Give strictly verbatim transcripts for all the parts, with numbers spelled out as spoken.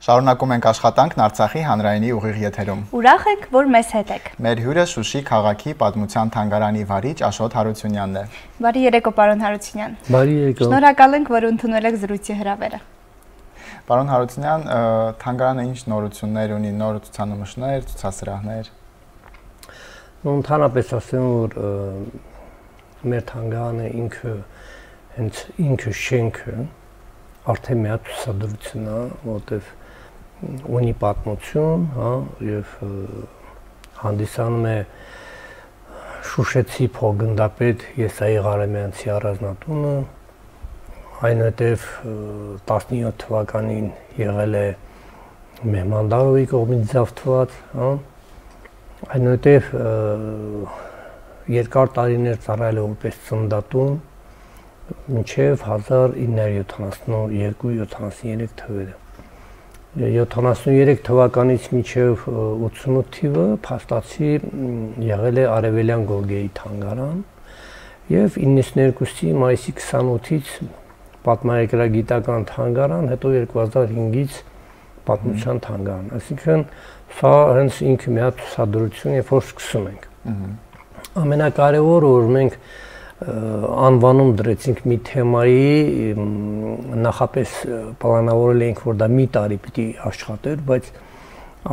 Շարունակում ենք աշխատանքն Արցախի հանրայինի ուղիղ եթերում։ Ուրախ եք, որ մեզ հետ եք։ Մեր հյուրը Շուշի քաղաքի պատմության թանգարանի վարիչ Աշոտ Հարությունյանն է։ Բարի երեկո, պարոն Հարությունյան։ Բարի երեկո։ Շնորհակալ ենք, որ ընդունել եք զրույցի հրավերը։ Պարոն Հարությունյան, թանգարանը ինչ նորություններ ունի, նոր ցուցանմուշներ, ցուցասրահներ։ Ընդհանրապես ասեմ, որ մեր թանգարանը ինքը հենց ինքը շենքը արդեն մի հատ ցուցադրություն է, որտեղ ունի պատմություն, հա, եւ հանդիսանում է Շուշեցի փոխգնդապետ Եսայի Ղարամյանցի առանձնատունը, այնուհետև տասնյոթ թվականին եղել է Մեհմանդարովի կողմից ձավթված, հա, այնուհետև երկար տարիներ ծառայել է որպես ծննդատուն մինչև հազար ինը հարյուր յոթանասունյոթ յոթանասուներեք թվերը։ յոթանասուներեք թվականից մինչև ութսունութ թիվը փաստացի եղել է Արևելյան Գորգեի թանգարան եւ իննսուններկուսի մայիսի քսանութից պատմագրագիտական թանգարան, հետո երկու հազար հինգից պատմության թանգարան։ Այսինքն սա հենց ինքը մի հատ ցուցադրություն է, որ սկսում ենք։ Ամենակարևորը, որ մենք անվանում դրեցինք մի թեմայի, նախապես պլանավորել էինք, որ դա մի տարի պիտի աշխատեր, բայց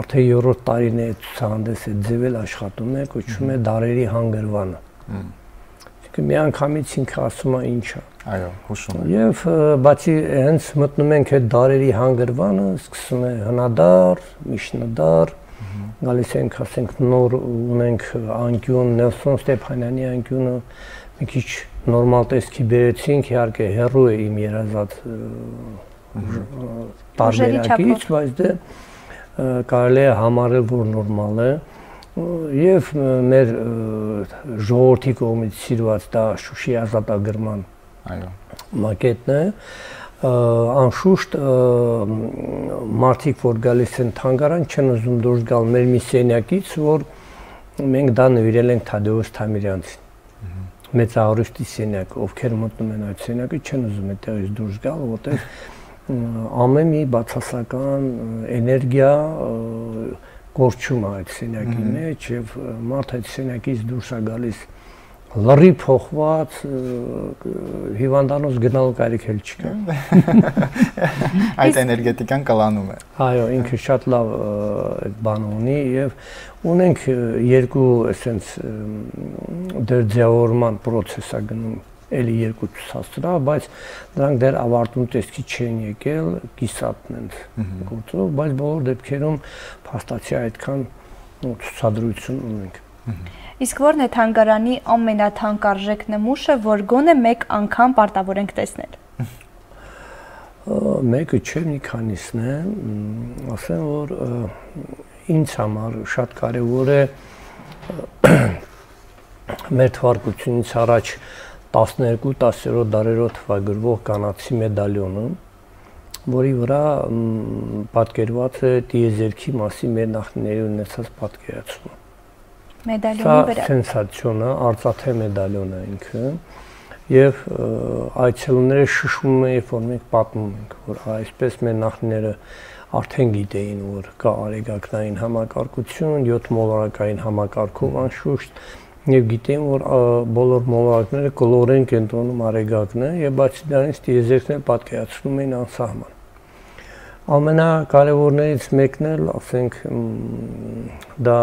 արդեն երրորդ տարին է ցուցահանդեսը ձևել աշխատում է, կոչվում է Դարերի հանգրվանը։ Այսինքն մի անգամից ինքը ասում է ինչ է։ Այո, հուշում է։ Եվ բացի հենց մտնում ենք այդ Դարերի հանգրվանը, սկսում է հնադար, միջնադար, գալիս ենք, ասենք, նոր ունենք անկյուն, Նելսոն Ստեփանյանի անկյունը մի քիչ նորմալ տեսքի բերեցինք, իհարկե հեռու է իմ երազած տարբերակից, բայց դե կարելի է համարել, որ նորմալ է, եւ մեր ժողովրդի կողմից սիրված դա Շուշի ազատագրման մակետն է, անշուշտ մարդիկ, որ գալիս են թանգարան, չեն ուզում դուրս գալ մեր մի սենյակից, որ մենք դա նվիրել ենք Թադեոս Թամիրյանցին։ Մեծահարուստի սենյակ, ովքեր մտնում են այդ սենյակը, չեն ուզում այդտեղից դուրս գալ, որտեղ ամեն մի բացասական էներգիա գործում է այդ սենյակի մեջ եւ մարդ այդ սենյակից դուրս է գալիս լրի փոխված, հիվանդանոց գնալու կարիք էլ չկա։ Այդ էներգետիկան կլանում է։ Այո, ինքը շատ լավ այդ բանը ունի եւ ունենք երկու էսենց դեր ձևավորման process է գնում, էլի երկու ցուցասրահ, բայց դրանք դեռ ավարտուն տեսքի չեն եկել, կիսատն են գործով, բայց բոլոր դեպքերում փաստացի այդքան ցուցադրություն ունենք։ Իսկ ո՞րն է թանգարանի ամենաթանկարժեք նմուշը, որ գոնե մեկ անգամ պարտավոր ենք տեսնել։ Մեկը չէ, մի քանիսն է, ասեմ, որ ինձ համար շատ կարևոր է մեր թվարկությունից առաջ տասներկու տասներորդ դարերով թվագրվող կանացի մեդալյոնը, որի վրա պատկերված է տիեզերքի մասի մեր նախնիների ունեցած պատկերացումը։ Մեդալյոնի վրա։ Սա սենսացիոն է, արծաթե մեդալյոն է ինքը, եւ այցելուները շշմում են, երբ որ մենք պատմում ենք, որ այսպես մեր նախնիները արդեն գիտեին, որ կա արեգակնային համակարգություն, յոթ մոլորակային համակարգով անշուշտ, եւ գիտեին, որ բոլոր մոլորակները կլորեն կենտրոնում արեգակն է, եւ բացի դրանից տիեզերքն էլ պատկերացնում էին անսահման։ Ամենակարևորներից մեկն էլ, ասենք, դա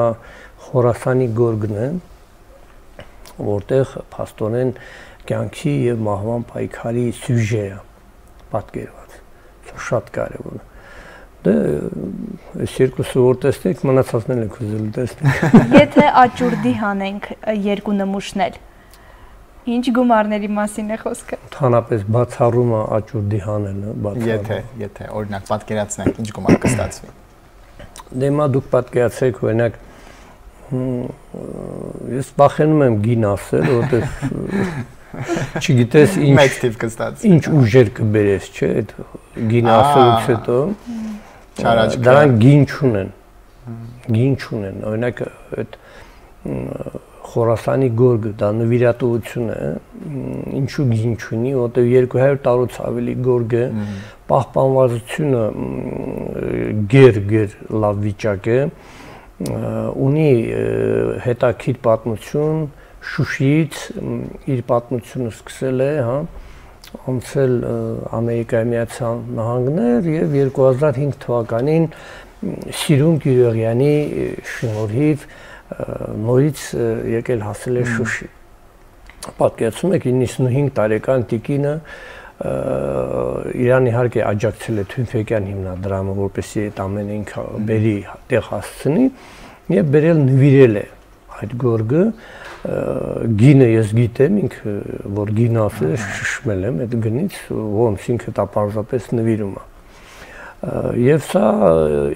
Խորասանի գորգն է, որտեղ փաստորեն կյանքի եւ մահվան պայքարի սյուժե է պատկերված։ Սա շատ կարևոր է։ Դե այս երկուսը որ տեսնեք, մնացածն էլ եք ուզել տեսնել։ Եթե աճուրդի հանենք երկու նմուշներ, ինչ գումարների մասին է խոսքը։ Ընդհանրապես բացառումը աճուրդի հանելը, բացառումը։ Եթե, եթե օրինակ պատկերացնենք, ինչ գումար կստացվի։ Դե մա դուք պատկերացրեք, օրինակ ես վախենում եմ գին ասել, որովհետև չգիտես ինչ մեծ տիպ կստացվի։ Ինչ ուժեր կբերես, չէ՞, այդ գին ասելուց հետո։ Դրանք գին չունեն։ Գին չունեն։ Օրինակ այդ Խորասանի գորգը, դա նվիրատվություն է, ինչու գին չունի, որտեղ երկու հարյուր տարուց ավելի գորգ է, պահպանվածությունը գեր-գեր լավ վիճակ է, ունի հետաքրքիր պատմություն, Շուշիից իր պատմությունը սկսել է, հա, անցել Ամերիկայի Միացյալ Նահանգներ եւ երկու հազար հինգ թվականին Սիրուն Գյուրեղյանի շնորհիվ նորից եկել հասել է Շուշի։ Պատկերացնում եք իննսունհինգ տարեկան տիկինը Իրան իհարկե աջակցել է Թյունֆեկյան հիմնադրամը, որպեսզի այդ ամենը ինքը բերի տեղ հասցնի եւ բերել նվիրել է այդ գորգը գինը ես գիտեմ ինքը որ գինը ասել է շշմել եմ այդ գնից ոնց ինքը դա պարզապես նվիրում է եւ սա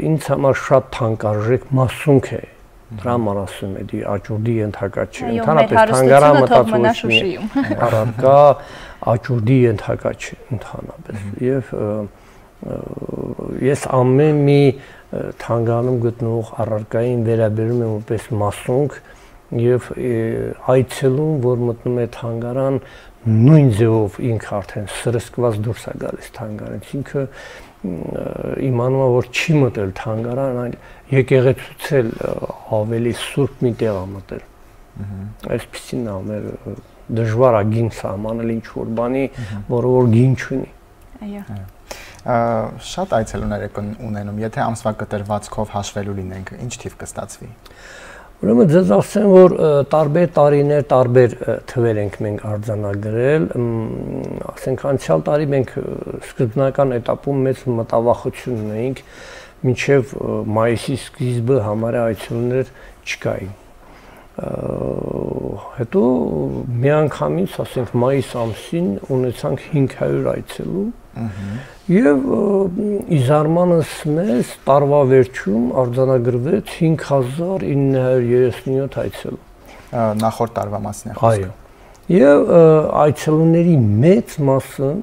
ինձ համար շատ թանկարժեք մասունք է դրա համար ասում եմ դի աճուրդի ենթակա չէ ընդհանրապես թանգարան մտածում առարկա աճուրդի ենթակա չէ ընդհանրապես եւ ես ամեն մի թանգարանում գտնվող առարկային վերաբերում եմ որպես մասունք եւ այցելում, որ մտնում է թանգարան, նույն ձևով ինքը արդեն սրսկված դուրս է գալիս թանգարանից, ինքը իմանում է, որ չի մտել թանգարան, այլ եկեղեցուցել ավելի սուրբ մի տեղ է մտել։ Այսպեսին է մեր դժվար է գին սահմանել ինչ-որ բանի, որը որ գին չունի։ Այո։ Շատ այցելուներ եք ունենում, եթե ամսվա կտրվածքով հաշվելու լինենք, ինչ թիվ կստացվի։ Ուրեմն ձեզ ասեմ, որ տարբեր տարիներ, տարբեր թվեր ենք մենք արձանագրել, ասենք անցյալ տարի մենք սկզբնական էտապում մեծ մտավախություն ունեինք, մինչև մայիսի սկիզբը համարյա այցելուներ չկային։ Հետո միանգամից, ասենք մայիս ամսին ունեցանք հինգ հարյուր այցելու եւ իզարմանս մեզ տարվա վերջում արձանագրվեց հինգ հազար ինը հարյուր երեսունյոթ այցելու։ Նախորդ տարվա մասն է խոսքը։ Այո։ Եվ այցելուների մեծ մասը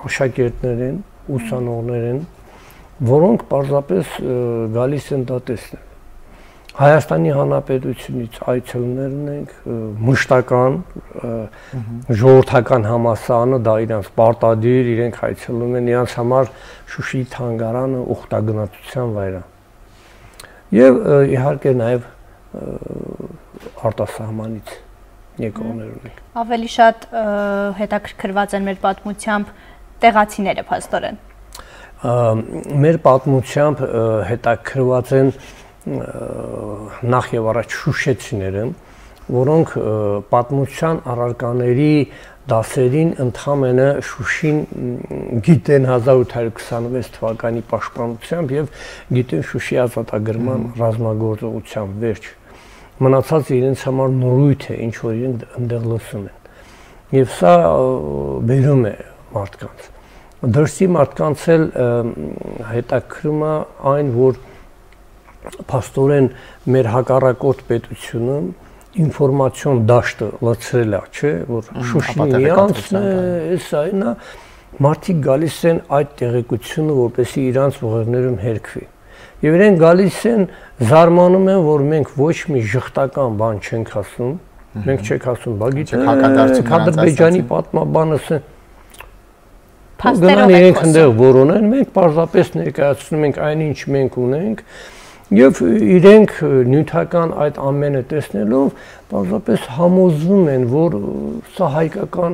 աշակերտներ են, ուսանողներ են, որոնք պարզապես գալիս են դա տեսնել։ Հայաստանի Հանրապետությունից այցելուներ ունենք, մշտական, ժողովրդական համալսարանը, դա իրանց պարտադիր, իրենք այցելում են, իրանց համար Շուշիի թանգարանը ուխտագնացության վայր է։ Եվ իհարկե նաև արտասահմանից եկողներ ունենք։ Ավելի շատ հետաքրքրված են մեր պատմությամբ տեղացիները, փաստորեն։ Մեր պատմությամբ հետաքրքրված են նախ եւ առաջ շուշեցիները, որոնք պատմության առարկաների դասերին ընդհանրապես Շուշին գիտեն հազար ութ հարյուր քսանվեց թվականի պաշտպանությամբ եւ գիտեն Շուշի ազատագրման ռազմագործողության վերջ։ Մնացածը իրենց համար նորույթ է, ինչ որ իրենք այնտեղ լսում են։ Եվ սա բերում է մարդկանց։ Դրսի մարդկանց էլ հետաքրում է այն, որ փաստորեն մեր հակառակորդ պետությունը ինֆորմացիոն դաշտը լցրել է, չէ, որ Շուշին իրանցն է, էսա այնա, մարդիկ գալիս են այդ տեղեկությունը, որպեսզի իրանց ուղերձներում հերքվի։ Եվ իրենք գալիս են, զարմանում են, որ մենք ոչ մի ժխտական բան չենք ասում, մենք չենք ասում, բա գիտեք, Ադրբեջանի պատմաբանը գնան իրենք ընդեղ որոնեն, մենք պարզապես ներկայացնում ենք այն, ինչ մենք ունենք, եւ իրենք նյութական այդ ամենը տեսնելով պարզապես համոզվում են, որ սա հայկական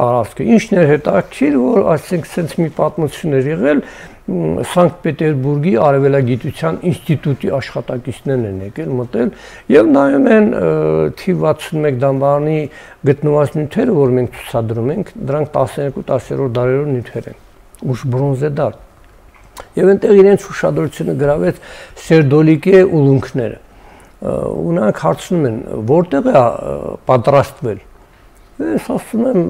տարածք է։ Ինչն է հետաքրքիր, որ այսինքն sense մի պատմություն էր եղել, Սանկտ Պետերբուրգի Արևելագիտության ինստիտուտի աշխատակիցներն են եկել, մտել եւ նայում են թիվ վաթսունմեկ դամբարանի գտնված նյութերը, որ մենք ցուցադրում ենք, դրանք տասներկու տասներորդ դարերով նյութեր են, ուշ բրոնզե դար։ Եվ այնտեղ իրենց ուշադրությունը գրավեց սերդոլիկե ուլունքները։ Ու նրանք հարցնում են, որտեղ է պատրաստվել։ Ես ասում եմ,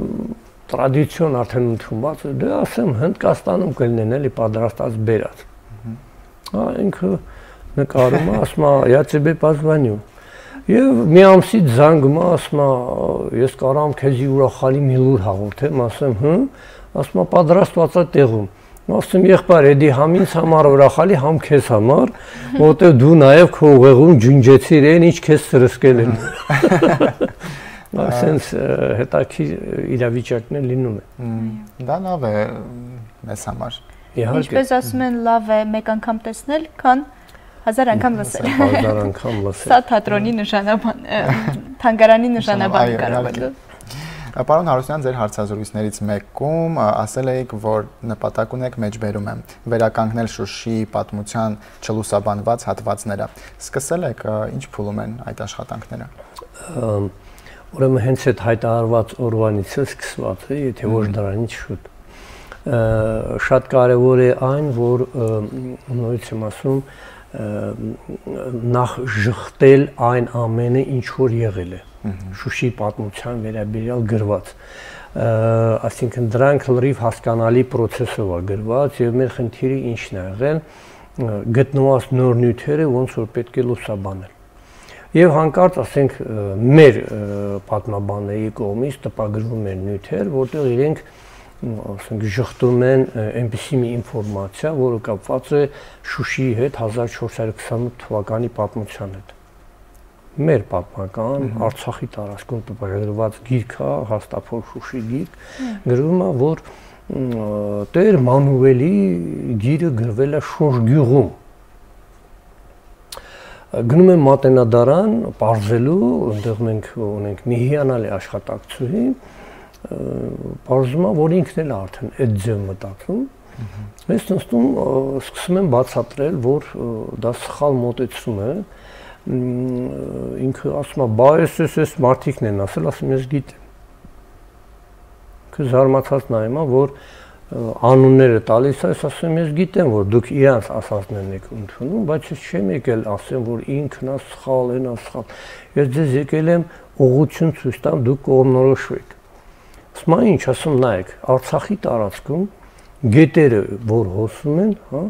տրադիցիոն արդեն ընդունված է, դե ասեմ Հնդկաստանում կլինեն էլի պատրաստած բերած։ Հա ինքը նկարում է, ասում է, я тебе позвоню։ Եվ մի ամսից զանգում է, ասում է, ես կարամ քեզի ուրախալի մի լուր հաղորդեմ, ասեմ, հը, ասում է, պատրաստված է տեղում։ Ասում եղբայր, էդի համ ինձ համար ուրախալի, համ քեզ համար, որտեղ դու նաև քո ուղեղում ջունջեցիր են, ինչ քեզ սրսկել են։ Ասենց հետաքրքիր իրավիճակներ լինում են։ Դա լավ է մեզ համար։ Ինչպես ասում են, լավ է մեկ անգամ տեսնել, քան հազար անգամ լսել։ Հազար անգամ լսել։ Սա թատրոնի նշանաբան, թանգարանի նշանաբան կարող է։ Պարոն Հարությունյան, ձեր հարցազրույցներից մեկում ասել եք, որ նպատակ ունեք մեջբերում եմ վերականգնել Շուշիի պատմության չլուսաբանված հատվածները։ Սկսել եք, ինչ փուլում են այդ աշխատանքները։ Ուրեմն հենց այդ հայտարարված օրվանից է սկսված է, եթե ոչ դրանից շուտ։ Շատ կարևոր է այն, որ նորից եմ ասում, նախ ժխտել այն ամենը, ինչ որ եղել է Շուշիի պատմության վերաբերյալ գրված, այսինքն դրանք լրիվ հասկանալի process-ով է գրված եւ մեր խնդիրը ինչն է եղել գտնված նոր նյութերը ոնց որ պետք է լուսաբանել եւ հանկարծ ասենք մեր պատմաբանների կողմից տպագրվում են նյութեր, որտեղ իրենք ասենք ժխտում են այնպիսի մի ինֆորմացիա, որը կապված է Շուշիի հետ հազար չորս հարյուր քսանութ թվականի պատմության հետ։ Մեր պատմական Արցախի տարածքում տպագրված գիրք է, հաստափոր Շուշի գիրք, գրվում է, որ Տեր Մանուվելի գիրը գրվել է Շոշ գյուղում։ Գնում եմ Մատենադարան, պարզելու, այնտեղ մենք ունենք մի հիանալի աշխատակցուհի, պարզում է, որ ինքն էլ արդեն այդ ձև մտածում։ Ես նստում սկսում եմ բացատրել, որ դա սխալ մոտեցում է, ինքը ասում է, բա ես ես մարդիկն են ասել, ասում ես գիտեմ։ Ինքը զարմացած նայում է, որ անունները տալիս է, ես ասում ես գիտեմ, որ դուք իրանց ասածներն եք ընդունում, բայց ես չեմ եկել ասեմ, որ ինքն է սխալ, են է սխալ։ Ես ձեզ եկել եմ ուղղություն ցույց տամ, դուք կողմնորոշվեք։ Ասում է, ինչ, ասում նայեք, Արցախի տարածքում գետերը, որ հոսում են, հա,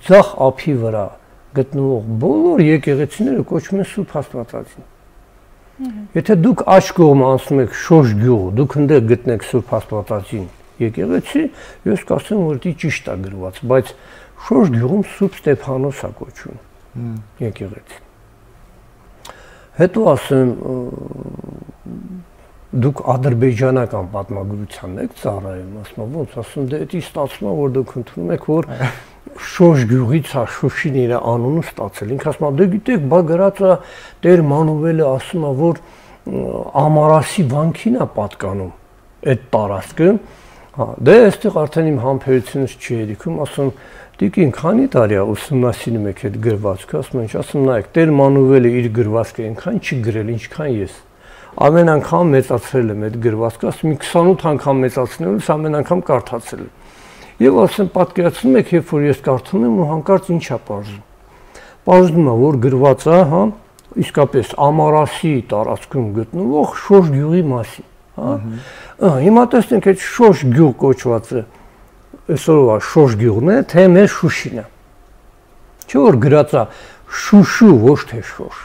ձախ ափի վրա գտնվող բոլոր եկեղեցիները կոչվում են Սուրբ Աստվածածին։ Եթե դուք աջ կողմը անցնում եք Շոշ գյուղ, դուք ընդեղ գտնեք Սուրբ Աստվածածին եկեղեցի, ես կասեմ, որ դա ճիշտ է գրված, բայց Շոշ գյուղում Սուրբ Ստեփանոս է կոչվում եկեղեցի։ Հետո ասեմ, դուք ադրբեջանական պատմագրությանն եք ծառայում, ասում ոնց, ասում դե դա ստացվում է, որ դուք ընդունում եք, որ Շոշ գյուղից է Շուշին իր անունը ստացել։ Ինքը ասում է, դե գիտեք, բա գրած է Տեր Մանուվելը ասում է, որ Ամարասի վանքին է պատկանում այդ տարածքը։ Հա, դե այստեղ արդեն իմ համբերությունս չի երիքում, ասում Տիկին, քանի տարի է ուսումնասիրում եք այդ գրվածքը, ասում ինչ, ասում նայեք, Տեր Մանուվելը իր գրվածքը այնքան չի գրել, ինչքան ես։ Ամեն անգամ մեծացրել եմ այդ գրվածքը, ասում քսանութ անգամ մեծացնելուց ամեն անգամ կարդացել եմ։ Եվ ասեմ, պատկերացնում եք, երբ որ ես կարդում եմ ու հանկարծ ինչ է պարզում։ Պարզվում է, որ գրված է, հա, իսկապես Ամարասի տարածքում գտնվող Շոշ գյուղի մասին, հա։ Հիմա տեսնենք այդ Շոշ գյուղ կոչվածը, այսօրվա Շոշ գյուղն է, թե մեր Շուշին է։ Չէ՞ որ գրած է Շուշու, ոչ թե Շոշ։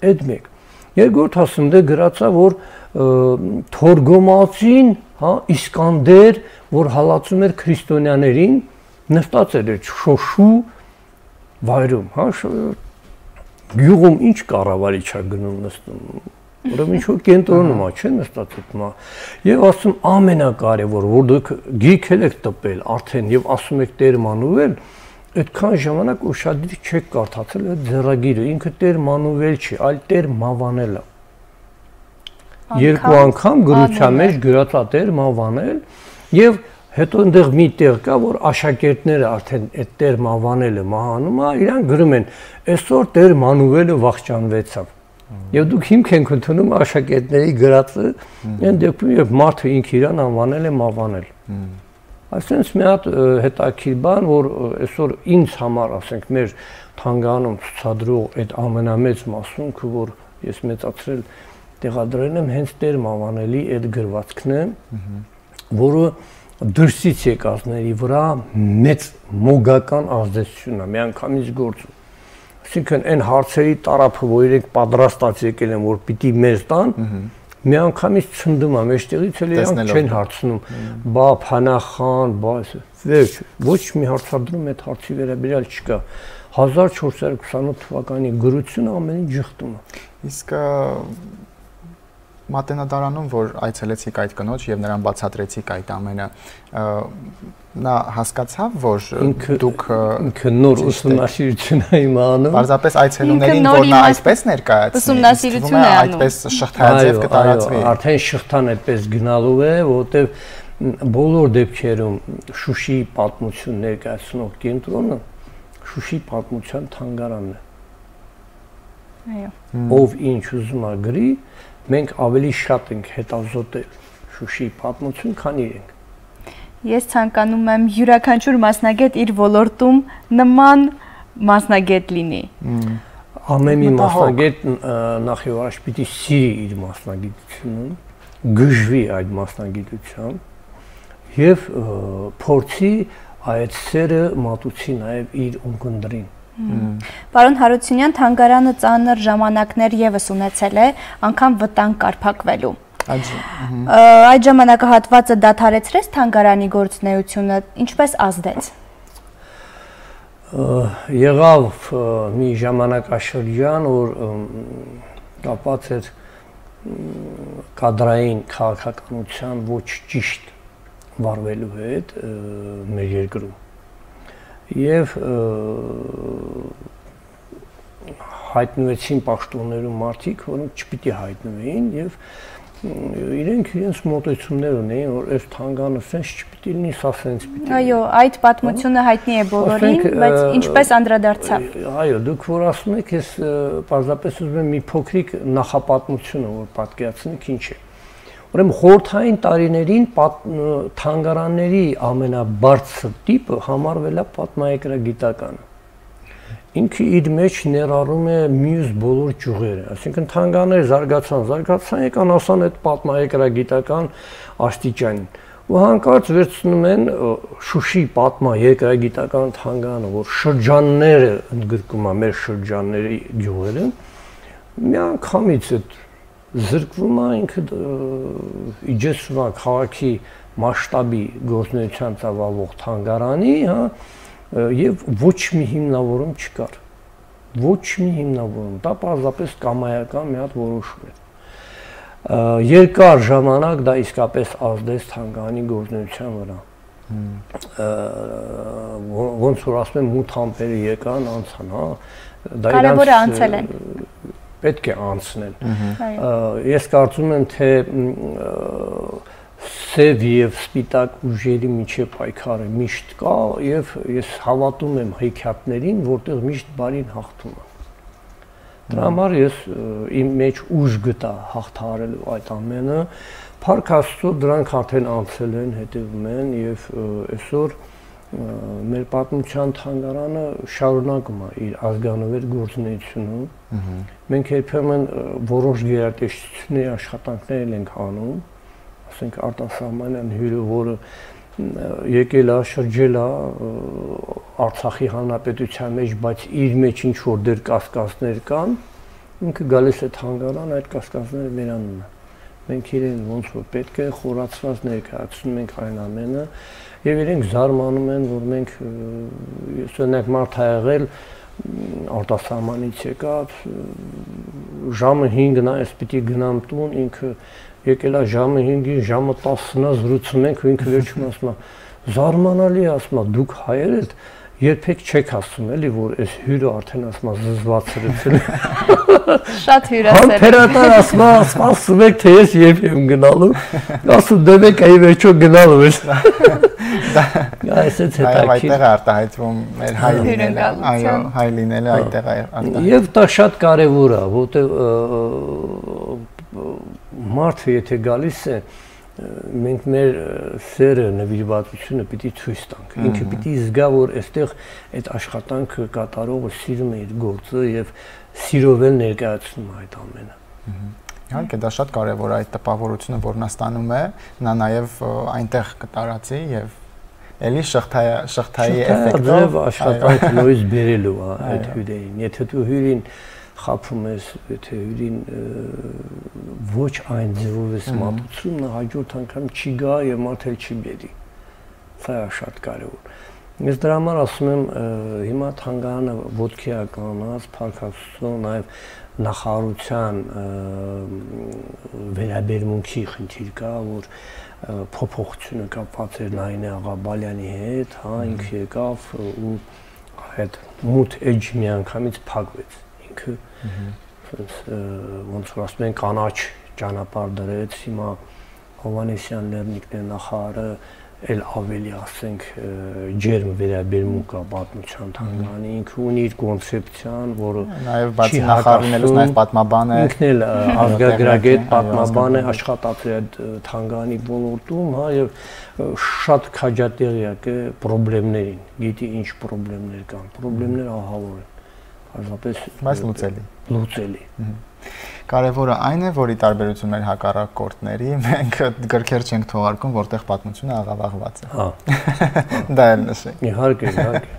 Այդ մեկ։ Երկրորդ ասում դե գրած է, որ Թորգոմացին, հա, Իսկանդեր, որ հալածում էր քրիստոնյաներին, նստած էր այդ Շոշու վայրում, հա, գյուղում ինչ կառավարիչ է գնում նստում, ուրեմն ինչ-որ կենտրոնում է, չէ՞ նստած այդ մա։ Եվ ասում ամենակարևոր, որ դուք գիրք եք տպել արդեն եւ ասում եք Տեր Մանուվել, այդքան ժամանակ ուշադիր չեք կարդացել այդ ձեռագիրը, ինքը Տեր Մանուվել չի, այլ Տեր Մավանել է։ Երկու անգամ գրության մեջ գրած է Տեր Մավանել եւ հետո այնտեղ մի տեղ կա, որ աշակերտները արդեն այդ Տեր Մավանելը մահանում է, իրանք գրում են, այսօր Տեր Մանուվելը վախճանվեցավ։ Եվ դուք հիմք եք ընդունում աշակերտների գրածը, այն դեպքում երբ մարդը ինքը իրան անվանել է Մավանել։ Այսինքն մի հատ հետաքրքիր բան, որ այսօր ինձ համար, ասենք, մեր թանգարանում ցուցադրող այդ ամենամեծ մասունքը, որ ես մեծացրել տեղադրել եմ, հենց Տեր Մավանելի այդ գրվածքն է, որը դրսից եկածների վրա մեծ մոգական ազդեցություն է, միանգամից գործում։ Այսինքն այն հարցերի տարափը, որ իրենք պատրաստած եկել են, որ պիտի մեզ տան, միանգամից ցնդում եմ, այստեղից էլ իրանք չեն հարցնում, բա Փանախան, բա վերջ, ոչ մի հարցադրում այդ հարցի վերաբերյալ չկա։ հազար չորս հարյուր քսանութ թվականի գրությունը ամեն ինչ ժխտում է։ Իսկ Մատենադարանում, որ այցելեցիք այդ կնոջ եւ նրան բացատրեցիք այդ ամենը, նա հասկացավ, որ դուք ինքը նոր ուսումնասիրություն է իմանում։ Պարզապես այցելուներին, որ նա այսպես ներկայացնի, ուսումնասիրություն է անում, այդպես շղթայաձև կտարածվի։ Արդեն շղթան այդպես գնալու է, որովհետեւ բոլոր դեպքերում Շուշիի պատմություն ներկայացնող կենտրոնը Շուշիի պատմության թանգարանն է։ Այո։ Ով ինչ ուզում է գրի, մենք ավելի շատ ենք հետազոտել Շուշիի պատմություն, քան իրենք։ Ես ցանկանում եմ յուրաքանչյուր մասնագետ իր ոլորտում նման մասնագետ լինի։ Ամեն մի մասնագետ նախ եւ առաջ պիտի սիրի իր մասնագիտությունը, գժվի այդ մասնագիտությամբ եւ փորձի այդ սերը մատուցի նաեւ իր ունկնդրին։ Պարոն Հարությունյան, թանգարանը ծանր ժամանակներ եւս ունեցել է, անգամ վտանգ կարփակվելու։ Այդ ժամանակահատվածը դադարեցրեց թանգարանի գործունեությունը, ինչպես ազդեց։ Եղավ մի ժամանակաշրջան, որ կապված էր կադրային քաղաքականության ոչ ճիշտ վարվելու հետ մեր երկրում։ Եվ հայտնվեցին պաշտոններում մարդիկ, որոնք չպիտի հայտնվեին եւ իրենք իրենց մոտեցումներ ունեին, որ այս թանգանը սենց չպիտի լինի, սա սենց պիտի։ Այո, այդ պատմությունը հայտնի է բոլորին, բայց ինչպես անդրադարձավ։ Այո, դուք որ ասում եք, ես պարզապես ուզում եմ մի փոքրիկ նախապատմությունը, որ պատկերացնեք ինչ է։ Ուրեմն խորհրդային տարիներին թանգարանների ամենաբարձր տիպը համարվել է պատմահայկրագիտականը։ Ինքը իր մեջ ներառում է մյուս բոլոր ճյուղերը, այսինքն թանգարանները զարգացան, զարգացան եկան ասան այդ պատմահայկրագիտական աստիճանին։ Ու հանկարծ վերցնում են Շուշի պատմահայկրագիտական թանգարանը, որ շրջանները ընդգրկում է մեր շրջանների գյուղերը, միանգամից այդ զրկվում է ինքը իջեցվում է քաղաքի մասշտաբի գործունեության ծավալվող թանգարանի, հա, եւ ոչ մի հիմնավորում չկար։ Ոչ մի հիմնավորում, դա պարզապես կամայական մի հատ որոշում է։ Երկար ժամանակ դա իսկապես ազդեց թանգարանի գործունեության վրա։ Ոնց որ ասում եմ, մութ ամպերը եկան, անցան, հա։ Կարևորը անցել են։ Պետք է անցնել։ Ես կարծում եմ, թե սև եւ սպիտակ ուժերի միջև պայքարը միշտ կա եւ ես հավատում եմ հեքիաթներին, որտեղ միշտ բարին հաղթում է։ Դրա համար ես իմ մեջ ուժ գտա հաղթահարելու այդ ամենը։ Փառք Աստծո, դրանք արդեն անցել են, հետևում են եւ այսօր մեր պատմության թանգարանը շարունակում է իր ազգանվեր գործունեությունը։ Մենք երբեմն որոշ գերատեսչությունների աշխատանքներ ենք անում, ասենք արտասահմանյան հյուրը, որը եկել է, շրջել է Արցախի հանրապետության մեջ, բայց իր մեջ ինչ որ դեր կասկածներ կան, ինքը գալիս է թանգարան, այդ կասկածները վերանում են։ Մենք իրեն ոնց որ պետք է խորացված ներկայացնում ենք այն ամենը եւ իրենք զարմանում են, որ մենք ես օրինակ մարդ ա եղել արտասահմանից եկած ժամը հինգն է, ես պիտի գնամ տուն, ինքը եկել է ժամը հինգին, ժամը տասնը զրուցում ենք, ու ինքը վերջում ասում է, զարմանալի է, ասում է, դուք հայեր եք, երբեք չեք ասում էլի, որ այս հյուրը արդեն ասում է զզվացրեցել։ Շատ հյուրասեր։ Համբերատար ասում է, սպասում եք, թե ես երբ եմ գնալու, ասում դեմեք այ վերջո գնալու ես։ Այս է հետաքրքիր։ Այդտեղ է արտահայտվում մեր հայ լինելը, այո, հայ լինելը այդտեղ է արտահայտվում։ Եվ դա շատ կարևոր է, որտեղ մարդը եթե գալիս է, մենք մեր սերը, նվիրվածությունը պիտի ցույց տանք։ Ինքը պիտի զգա, որ այստեղ այդ աշխատանքը կատարողը սիրում է իր գործը եւ սիրով էլ ներկայացնում է այդ ամենը։ Իհարկե, դա շատ կարևոր է այդ տպավորությունը, որ նա ստանում է, նա նաեւ այնտեղ կտարածի եւ էլի շղթայի շղթայի էֆեկտով աշխատանքը նույնիսկ բերելու է այդ հյուրերին։ Եթե դու հյուրին խափում ես, եթե հյուրին ոչ այն ձևով ես մատուցում, նա հաջորդ անգամ չի գա եւ մարդ էլ չի բերի։ Սա է շատ կարևոր։ Ես դրա համար ասում եմ, հիմա թանգարանը ոտքի է կանած, փառքաստու նաեւ նախարարության վերաբերմունքի խնդիր կա, որ փոփոխությունը կապված էր Նայինե Աղաբալյանի հետ, հա, ինքը եկավ ու այդ մութ էջ միանգամից փակվեց։ Ինքը ոնց որ ասում են կանաչ ճանապարհ դրեց, հիմա Հովանեսյան Լեռնիկն է նախարարը էլ ավելի ասենք ջերմ վերաբերմունք կա պատմության թանգարանի, ինքը ունի իր կոնցեպցիան, որը նաև բացի նախարարինելուց նաև պատմաբան է, ինքն էլ ազգագրագետ պատմաբան է, աշխատած է այդ թանգարանի ոլորտում, հա, եւ շատ քաջատեղյակ է խնդիրներին, գիտի ինչ խնդիրներ կան, խնդիրները ահավոր են, հազարապես բայց լուծելի, լուծելի։ Կարևորը այն է, որ ի տարբերություն մեր հակառակորդների, մենք գրքեր չենք թողարկում, որտեղ պատմությունը աղավաղված է։ Հա։ Դա էլ նշենք։ Իհարկե, իհարկե։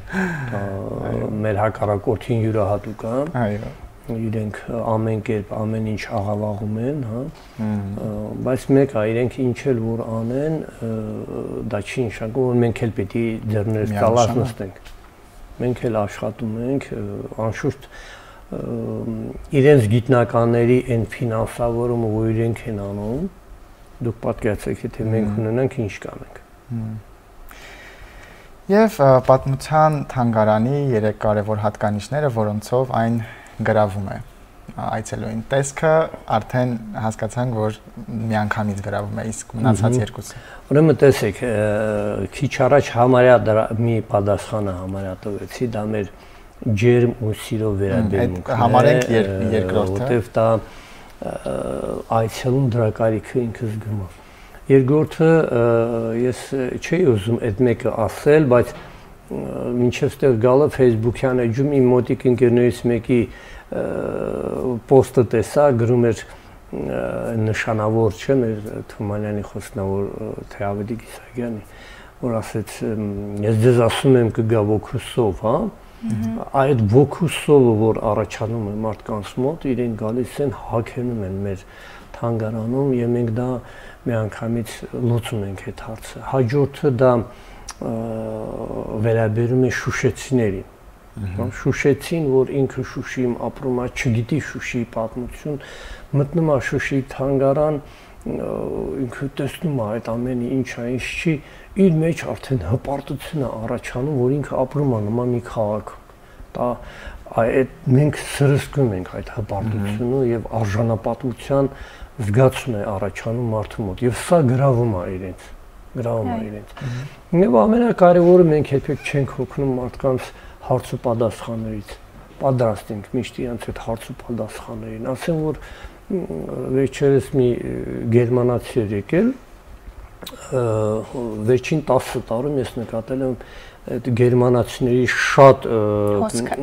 Մեր հակառակորդին յուրահատուկ է։ Այո։ Իրենք ամեն կերպ ամեն ինչ աղավաղում են, հա։ Բայց մեկ է, իրենք ինչ էլ որ անեն, դա չի նշանակում, որ մենք էլ պետք է ձեռներս կալած նստենք։ Մենք էլ աշխատում ենք, անշուշտ իրենց գիտնականների այն ֆինանսավորումը, որ իրենք են անում, դուք պատկերացրեք, եթե մենք ունենանք, ինչ կանենք։ Եվ պատմության թանգարանի երեք կարևոր հատկանիշները, որոնցով այն գրավում է այցելուին տեսքը, արդեն հասկացանք, որ միանգամից գրավում է, իսկ մնացած երկուսը։ Ուրեմն տեսեք, քիչ առաջ համարյա մի պատասխանը համարյա տվեցի, դա մեր ջերմ ու սիրո վերաբերմունքն է, համարենք երկրորդը, որտեվ դա այցելուն դրա կարիքը ինքը զգում է։ Երկրորդը ես չէի ուզում այդ մեկը ասել, բայց մինչև ստեղ գալը Facebook-յան էջում իմ մոտիկ ընկերներից մեկի պոստը տեսա, գրում էր նշանավոր չէ, մեր Թումանյանի խոսնավոր Թեավետի Կիսագյանի, որ ասեց, ես ձեզ ասում եմ կգա ոգուսով, հա, այդ ոգուսովը, որ առաջանում է մարդկանց մոտ, իրենք գալիս են հագնում են մեր թանգարանում եւ մենք դա միանգամից լուծում ենք այդ հարցը։ Հաջորդը դա վերաբերում է շուշեցիներին։ Շուշեցին, որ ինքը Շուշիում ապրում է, չգիտի Շուշիի պատմություն, մտնում է Շուշիի թանգարան, ինքը տեսնում է այդ ամենը ինչ է, ինչ չի, իր մեջ արդեն հպարտություն է առաջանում, որ ինքը ապրում է նման մի քաղաքում։ Դա այդ մենք սրսկում ենք այդ հպարտությունը եւ արժանապատվության զգացում է առաջանում մարդու մոտ եւ սա գրավում է իրենց, գրավում է իրենց։ Եվ ամենակարևորը մենք երբեք չենք հոգնում մարդկանց հարց ու պատասխաններից, պատրաստ ենք միշտ իրենց այդ հարց ու պատասխաններին։ Ասեմ, որ վերջերս մի գերմանացի էր եկել, վերջին տասը տարում ես նկատել եմ այդ գերմանացիների շատ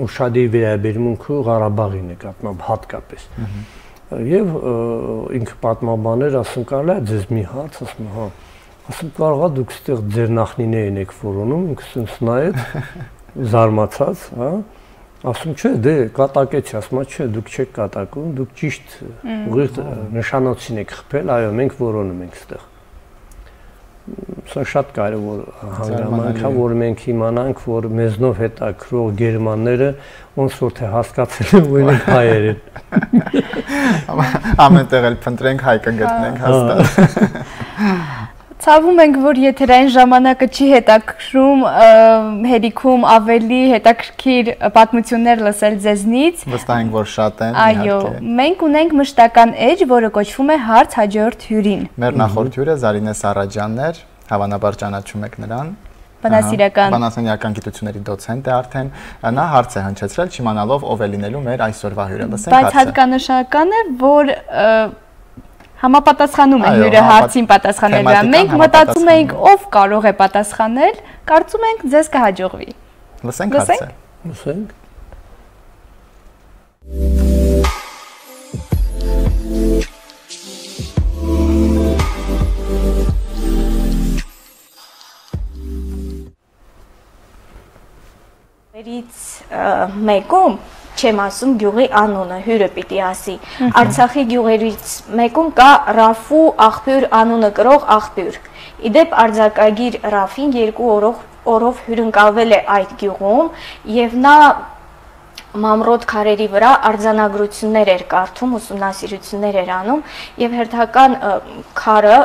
ուշադիր վերաբերմունքը Ղարաբաղի նկատմամբ հատկապես։ Եվ ինքը պատմաբաներ, ասում կարելի է ձեզ մի հարց, ասում հա, ասում կարող է դուք ստեղ ձեր նախնիներն եք որոնում, ինքը սենց նայեց, զարմացած, հա, ասում չէ, դե կատակեցի, ասում չէ, դուք չեք կատակում, դուք ճիշտ ուղիղ նշանոցին եք խփել, այո, մենք որոնում ենք ստեղ։ Սա շատ կարևոր հանգամանք է, որ մենք իմանանք, որ մեզնով հետաքրող գերմանները ոնց որ թե հասկացել են, որ իրենք հայեր են։ Ամենտեղ էլ փնտրենք հայ կգտնենք հաստատ։ Ցավում ենք, որ եթերային ժամանակը չի հետաքրում, հերիքում ավելի հետաքրքիր պատմություններ լսել ձեզնից։ Վստահ ենք, որ շատ են։ Այո, մենք ունենք մշտական էջ, որը կոչվում է հարց հաջորդ հյուրին։ Մեր նախորդ հյուրը Զարինե Սարաջյանն էր, հավանաբար ճանաչում եք նրան։ Բանասիրական բանասիրական գիտությունների դոցենտ է արդեն, նա հարց է հնչեցրել, չիմանալով ով է լինելու մեր այսօրվա հյուրը։ Լսենք հարցը։ Բայց հատկանշական է, որ համապատասխանում է հյուրը հարցին պատասխանել վրա։ Մենք մտածում էինք ով կարող է պատասխանել, կարծում ենք ձեզ կհաջողվի։ Լսենք հարցը։ Լսենք։ Վերից մեկում չեմ ասում գյուղի անունը, հյուրը պիտի ասի։ Արցախի գյուղերից մեկում կա Ռաֆու աղբյուր անունը կրող աղբյուր։ Իդեպ արձակագիր Ռաֆին երկու օրով օրով հյուրընկալվել է այդ գյուղում եւ նա մամրոտ քարերի վրա արձանագրություններ էր կարդում, ուսումնասիրություններ էր անում եւ հերթական քարը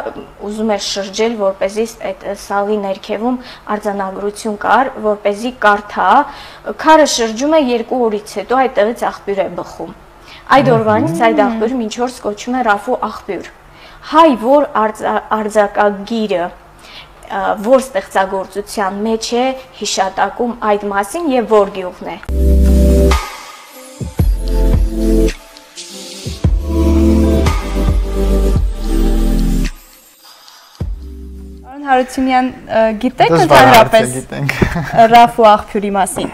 ուզում էր շրջել, որպեսզի այդ սալի ներքևում արձանագրություն կար, որպեսզի կարդա, քարը շրջում է երկու օրից հետո այդտեղից աղբյուր է բխում։ Այդ օրվանից այդ աղբյուրը մինչ օրս կոչվում է Ռաֆու աղբյուր։ Հայ որ արձակագիրը որ ստեղծագործության մեջ է հիշատակում այդ մասին եւ որ գյուղն է։ Հարությունյան, գիտեք ընդհանրապես Ռաֆու աղբյուրի մասին։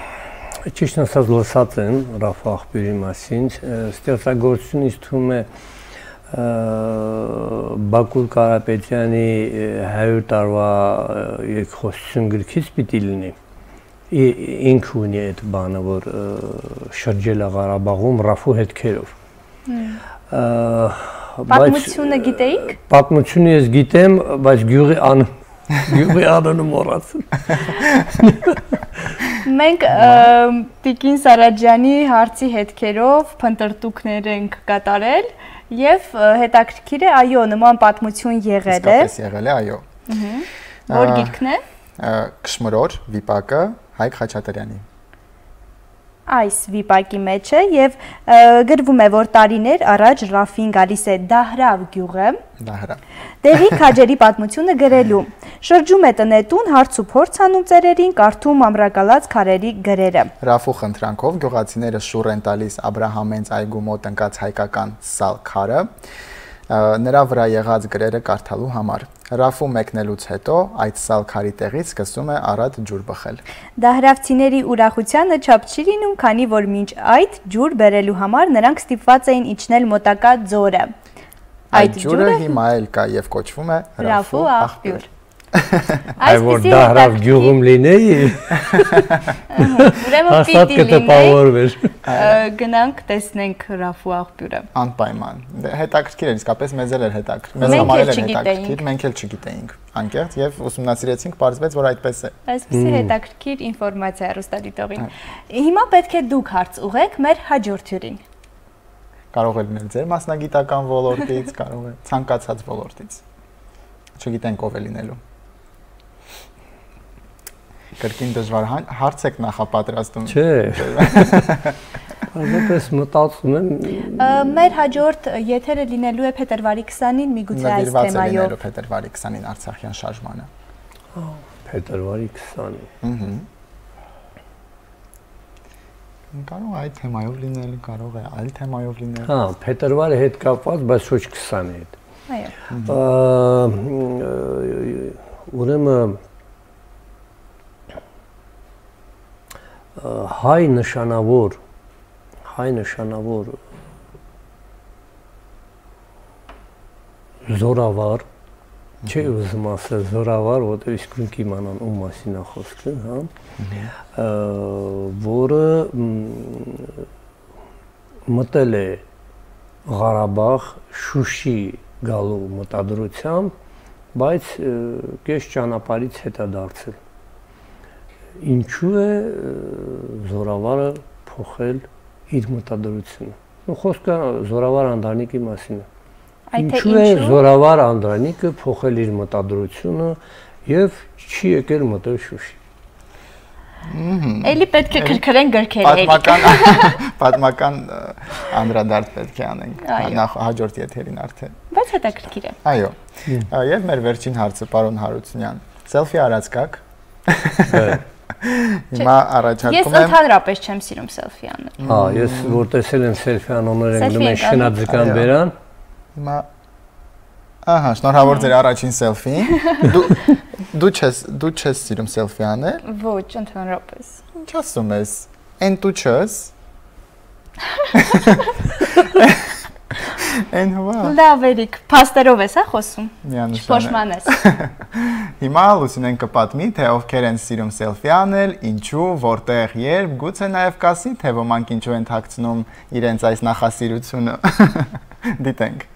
Ճիշտ ասած լսած եմ Ռաֆու աղբյուրի մասին, ստեղծագործությունը ինձ թվում է Բակուր Կարապետյանի հարյուր տարվա երկխոսություն գրքից պիտի լինի։ Ինքը ունի այդ բանը, որ շրջել է Ղարաբաղում Ռաֆու հետքերով։ Պատմությունը գիտեիք։ Պատմությունը ես գիտեմ, բայց գյուղի անունը Գյուղի անունը մոռացել։ Մենք Տիկին Սարաջյանի հարցի հետքերով փնտրտուքներ ենք կատարել եւ հետաքրքիր է, այո, նման պատմություն եղել է։ Իսկապես եղել է, այո։ Որ գիրքն է։ Կշմրոր վիպակը Հայկ Խաչատրյանի։ Այս վիպակի մեջ է եւ գրվում է, որ տարիներ առաջ Ռաֆին գալիս է Դահրավ գյուղը։ Դահրավ։ Տեղի քաջերի պատմությունը գրելու։ Շրջում է տնետուն, հարց ու փորձ անում ծերերին, կարդում ամրակալած քարերի գրերը։ Ռաֆու խնդրանքով գյուղացիները շուռ են տալիս Աբրահամենց այգու մոտ ընկած հայկական սալ քարը նրա վրա եղած գրերը կարդալու համար։ Ռաֆու մեկնելուց հետո այդ սալ քարի տեղից սկսում է առատ ջուր բխել։ Դահրավցիների ուրախությանը չափ չի լինում, քանի որ մինչ այդ ջուր բերելու համար նրանք ստիպված էին իջնել մոտակա ձորը։ Այդ ջուրը հիմա էլ կա եւ կոչվում է Ռաֆու աղբյուր։ Այ որ Դահրավ գյուղում լինեի։ Ուրեմն պիտի լինեի։ Գնանք տեսնենք Ռաֆու աղբյուրը։ Անպայման։ Հետաքրքիր էր, իսկապես մեզ էլ էր հետաքրքիր։ Մեզ համար էլ էր հետաքրքիր, մենք էլ չգիտեինք անկեղծ եւ ուսումնասիրեցինք, պարզվեց, որ այդպես է։ Այսպեսի հետաքրքիր ինֆորմացիա հեռուստադիտողին։ Հիմա պետք է դուք հարց ուղեք մեր հաջորդ հյուրին։ Կարող է լինել ձեր մասնագիտական ոլորտից, կարող է ցանկացած ոլորտից։ Չգիտենք ով է լինելու։ Կրկին դժվար հարց եք նախապատրաստում։ Չէ։ Այդպես մտածում եմ։ Մեր հաջորդ եթերը լինելու է փետրվարի քսանին միգուցե այս թեմայով։ Լինելու փետրվարի քսանին Արցախյան շարժմանը։ Փետրվարի քսանին։ Ահա։ Կարող է այդ թեմայով լինել, կարող է այլ թեմայով լինել։ Հա, փետրվարի հետ կապված, բայց ոչ քսանի հետ։ Այո։ Ուրեմն հայ նշանավոր հայ նշանավոր զորավար չէ ուզում ասել զորավար, որտեղ իսկ ինք իմանան ում մասին է խոսքը, հա, որը մտել է Ղարաբաղ Շուշի գալու մտադրությամբ, բայց կես ճանապարհից հետա դարձել։ Ինչու է զորավարը փոխել իր մտադրությունը։ Ու խոսքը զորավար Անդրանիկի մասին է։ Ինչու է զորավար Անդրանիկը փոխել իր մտադրությունը եւ չի եկել մտել Շուշի։ Էլի պետք է քրքրեն գրքերը։ Պատմական պատմական անդրադարձ պետք է անենք նախ հաջորդ եթերին արդեն։ Բայց հետաքրքիր է։ Այո։ Եվ մեր վերջին հարցը, պարոն Հարությունյան, սելֆի արած կաք։ Հիմա առաջարկում եմ։ Ես ընդհանրապես չեմ սիրում սելֆի անել։ Հա, ես որ տեսել եմ սելֆի անողներ են գնում են շնաձկան բերան։ Հիմա ահա, շնորհավոր ձեր առաջին սելֆին։ Դու դու չես դու չես սիրում սելֆի անել։ Ոչ, ընդհանրապես։ Ինչ ասում ես։ Էն դու չես։ Այն հովա։ Լավ Էրիկ, փաստերով ես, հա, խոսում։ Միանշանակ։ Փոշմանես։ Հիմա Լուսինեն կպատմի, թե ովքեր են սիրում սելֆի անել, ինչու, որտեղ, երբ, գուցե նաև կասի, թե ոմանք ինչու են թաքցնում իրենց այս նախասիրությունը։ Դիտենք։